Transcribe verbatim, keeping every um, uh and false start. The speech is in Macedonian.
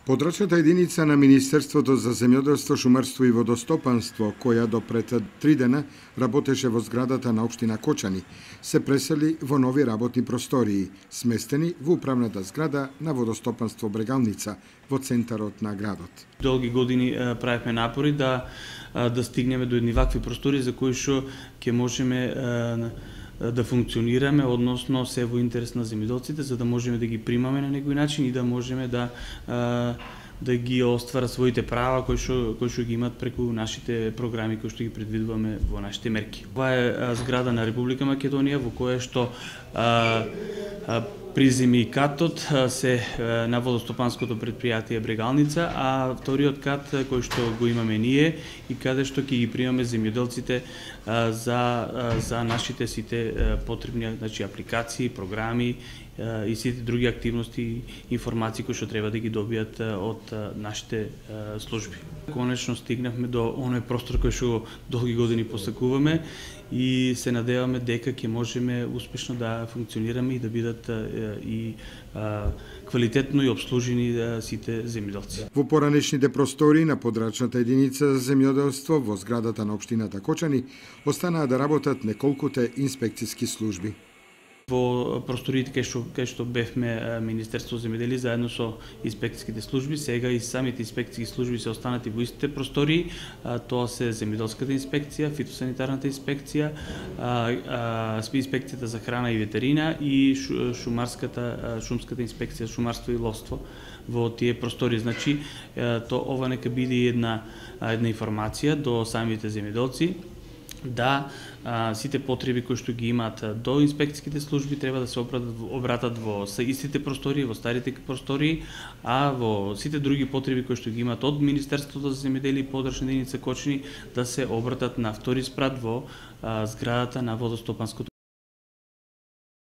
Подрачната единица на Министерството за земјоделство, шумарство и водостопанство, која до пред три дена работеше во зградата на општина Кочани, се пресели во нови работни простории, сместени во управната зграда на водостопанство Брегалница во центарот на градот. Долги години правевме напори да да стигнеме до едни вакви простори за кои што ќе можеме да функционираме, односно се во интерес на земјоделците, за да можеме да ги примаме на некој начин и да можеме да да ги оствара своите права кои што кои што ги имат преку нашите програми кои што ги предвидуваме во нашите мерки. Ова е зграда на Република Македонија во која што а, а, приземи катот се на водостопанското предпријатие Брегалница, а вториот кат кој што го имаме ние и каде што ќе ги примаме земјоделците за за нашите сите потребни, значи апликации, програми и сите други активности и информации кои што треба да ги добијат од нашите служби. Конечно стигнавме до оној простор кој што долги години посакуваме и се надеваме дека ќе можеме успешно да функционираме и да бидат и квалитетно и обслужени сите земјоделци. Во поранешните простори на подрачната единица за земјоделство во зградата на општината Кочани останаа да работат неколкуте инспекциски служби. Во просториите кај што кај што бевме Министерство за земјоделие заедно со инспекцијските служби, сега и самите инспекцијски служби се останати во истите простории. Тоа се земјоделската инспекција, фитосанитарната инспекција, инспекцијата за храна и ветерина и шумарската шумската инспекција, шумарство и ловство во тие простори. Значи, то ова нека биде една една информација до самите земјоделци да а, сите потреби кои што ги имаат до инспекцијските служби треба да се обратат, обратат во истите простории, во старите простории, а во сите други потреби кои што ги имаат од Министерството за земјоделие и подрачна единица Кочани да се обратат на втори спрат во а, зградата на водостопанското